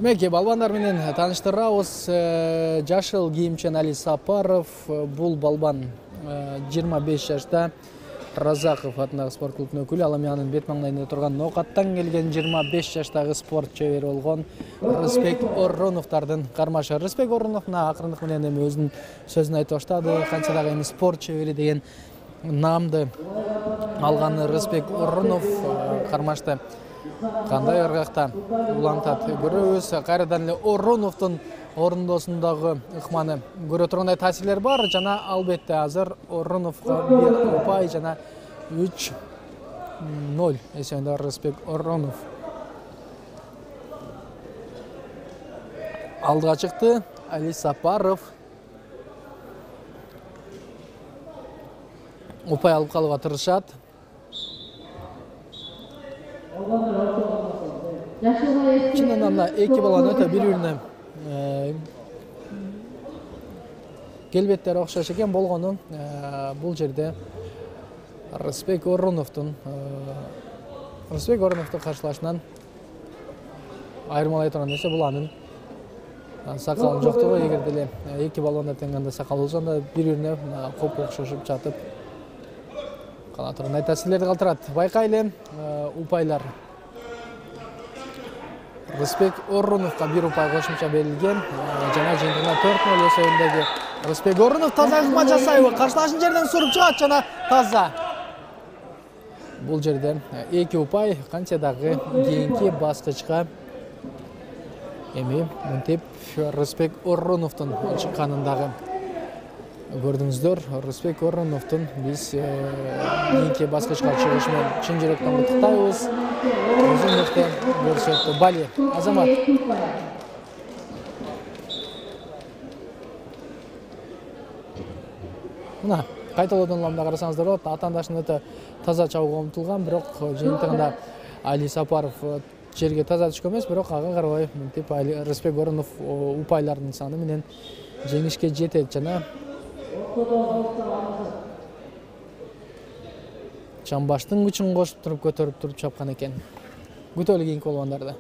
Демек, балбандар менен тааныштырабыз. Жашыл кийимчен Али Сапаров, бул балбан 25 жашта. Разаков атындагы спорт клубунун өкүлү. Ал эми анын бет маңдайында турган Ноокаттан келген 25 жаштагы спорт чебери болгон Рысбек Ороновдордун кармашы. Рысбек Оронов мына акырындык менен эми өзүнүн сөзүн айтып баштады. Канча дагы эми спорт чебери деген наамды алган Рысбек Оронов кармашты кандай ыргакта улантат көрөбүз. Кайрадан эле Ороновдун орундосундагы ыкманы көрө тургандай таасирлер бар жана албетте азыр Ороновго 1 упай жана 3-0 эсебинде Рысбек Оронов алдыга чыкты. Али Сапаров упай алып калууга тырышат. Чынында мына эки баланын өтө бири-бирине келбеттери окшош экен болгону бул жерде Рысбек Ороновдун каршылашынан айырмалай турган нерсе бул анын сакалынын жоктугу. Эгер деле эки балонда тең кандай сакал болсо анда бири-бирине коп окшошуп жатып кала турган таасирлерди калтырат. Байкайлы упайлар. Рысбек Ороновго 1 упай кошумча берилген. Жана жыйынтыгында 4-0 эсебиндеги Рысбек Оронов таза ыкма жасайбы. Каршылашын жерден суруп чыгат жана таза. Бул жерде 2 упай канча дагы кийинки баскычка эми мынтип Рысбек Ороновдун чыкканын дагы көрдүңүздөр. Рысбек Ороновдун биз кийинки баскычка чыгышы менен чын жүрөктөн куттуктайбыз. Өзүн мыкты көрсөттү. Бали Азамат. Мына кайталоодон уламда карасаңыздар болот. Атаандашын өтө таза чабууга умтулган, бирок жыйынтыгында Али Сапаров жерге таза түшкөн эмес, бирок ага карабай мынтип Рысбек Оронов упайлардын саны менен жеңишке жетет жана чамбаштын күчүн кошуп туруп көтөрүп туруп чапкан экен. Күтөлү кийинки балбандарды.